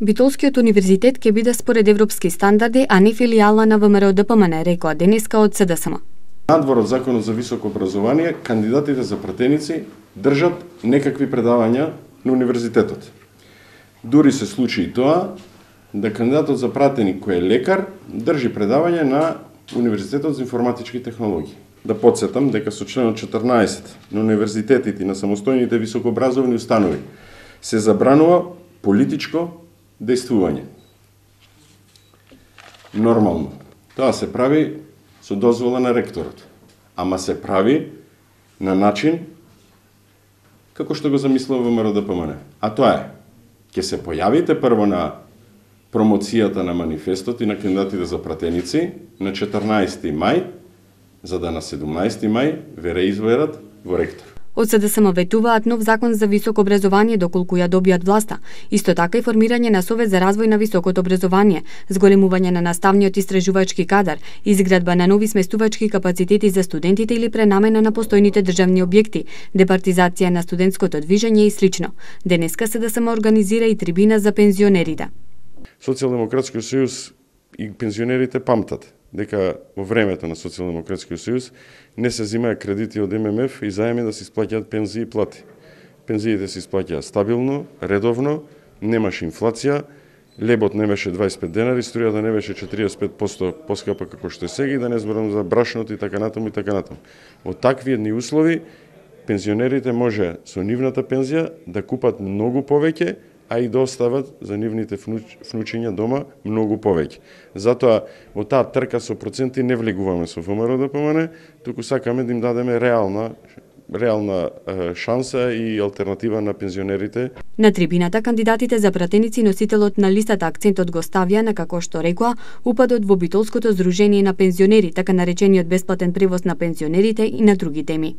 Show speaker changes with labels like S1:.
S1: Битолскиот универзитет ќе биде според европски стандарди, а не филијала на ВМРО-ДПМН, рекоа денеска од СДСМ.
S2: Надвор од Законот за високо образование, кандидатите за пратеници држат некакви предавања на универзитетот. Дури се случи и тоа да кандидатот за пратеник кој е лекар држи предавање на Универзитетот за информатички технологии. Да потсетам дека со членот 14 на универзитетите и на самостојните високообразовани установи се забранува политичко дејствување. Нормално, тоа се прави со дозвола на ректорот, ама се прави на начин како што го замислува ВМРО-ДПМН. А тоа е, ќе се појавите прво на промоцијата на манифестот и на кандидатите за пратеници на 14 мај, за да на 17 мај ве реизберат во ректор.
S1: Од СДСМ ветуваат нов закон за високо образование доколку ја добијат власта. Исто така и формирање на Совет за развој на високото образование, зголемување на наставниот истражувачки кадар, изградба на нови сместувачки капацитети за студентите или пренамена на постојните државни објекти, департизација на студентското движење и слично. Денеска СДСМ организира и трибина за пензионерите.
S2: Социјалдемократскиот сојуз и пензионерите памтат дека во времето на Социјалдемократскиот сојуз не се земаја кредити од ММФ и заеми да се исплаќаат пензии и плати. Пензиите се исплаќаат стабилно, редовно, немаше инфлација, лебот не беше 25 денари, струјата не беше 45% поскапа како што е сега, и да не зборам за брашното и така натаму и така натаму. Во такви едни услови пензионерите може со нивната пензија да купат многу повеќе, а и да остават за нивните внучиња дома многу повеќе. Затоа во таа трка со проценти не влегуваме со ВМРО-ДПМН, туку сакаме да им дадеме реална шанса и алтернатива на пензионерите.
S1: На трибината кандидатите за пратеници носителот на листата акцентот го ставија на, како што рекоа, упадот во Битолското здружение на пензионери, така наречениот бесплатен превоз на пензионерите и на други теми.